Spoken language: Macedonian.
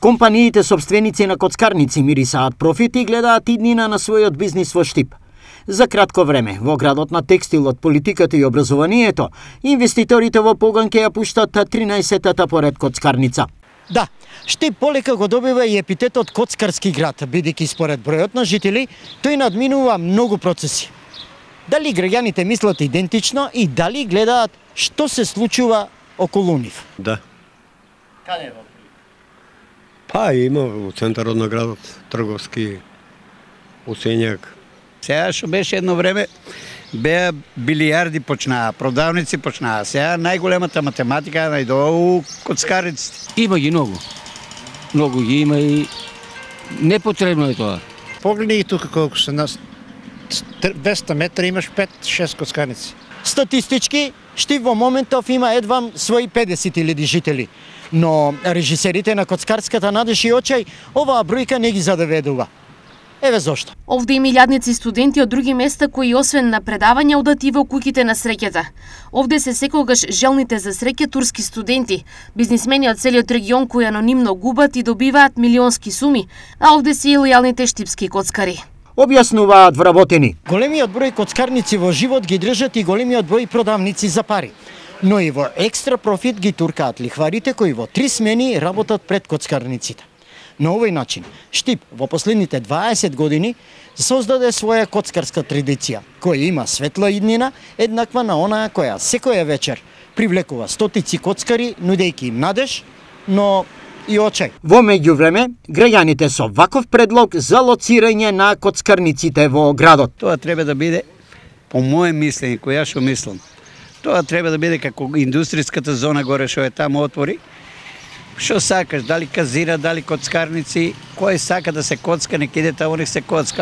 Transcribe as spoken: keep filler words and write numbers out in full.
Компаниите собственици на коцкарници мирисаат профит и гледаат иднина на својот бизнис во Штип. За кратко време, во градот на текстилот, политиката и образованието, инвеститорите во погон ќе ја пуштат тринаесеттата поред коцкарница. Да, Штип полека го добива и епитетот коцкарски град, бидејќи според бројот на жители, тој надминува многу процеси. Дали граѓаните мислат идентично и дали гледаат што се случува околу нив? Да. Каде во? Па има во центарот на градот, трговски, Осењак. Сега што беше едно време, беа билијарди почнаа, продавници почнаа. Сега најголемата математика најдова у коцкарниците. Има ги многу. Многу ги има и непотребно е тоа. Погледни тука колку се нас двеста метра имаш пет-шест коцкарници. Статистички, Штип во моментов има едвам своји педесет илјади жители. Но режисерите на коцкарската надеж и очај оваа бројка не ги задоведува. Еве зошто. Овде има илјадници студенти од други места кои освен на предавања одат и во куќите на среќата. Овде се секогаш желните за среќа турски студенти, бизнисмени од целиот регион кои анонимно губат и добиваат милионски суми, а овде се и лојалните штипски коцкари. Објаснуваат вработени. Големиот број коцкарници во живот ги држат и големиот број продавници за пари. Но и во екстра профит ги туркаат лихварите кои во три смени работат пред коцкарниците. На овој начин, Штип во последните дваесет години создаде своја коцкарска традиција, која има светла иднина, еднаква на онаа која секоја вечер привлекува стотици коцкари, нудејќи им надеж, но и очај. Во меѓувреме, граѓаните со ваков предлог за лоцирање на коцкарниците во градот. Тоа треба да биде, по моје мислење, која што мислам, тоа треба да биде како индустријската зона горе што е таму отвори. Што сакаш, дали казина, дали коцкарници, кој сака да се коцка, нека иде таму, нека се коцка.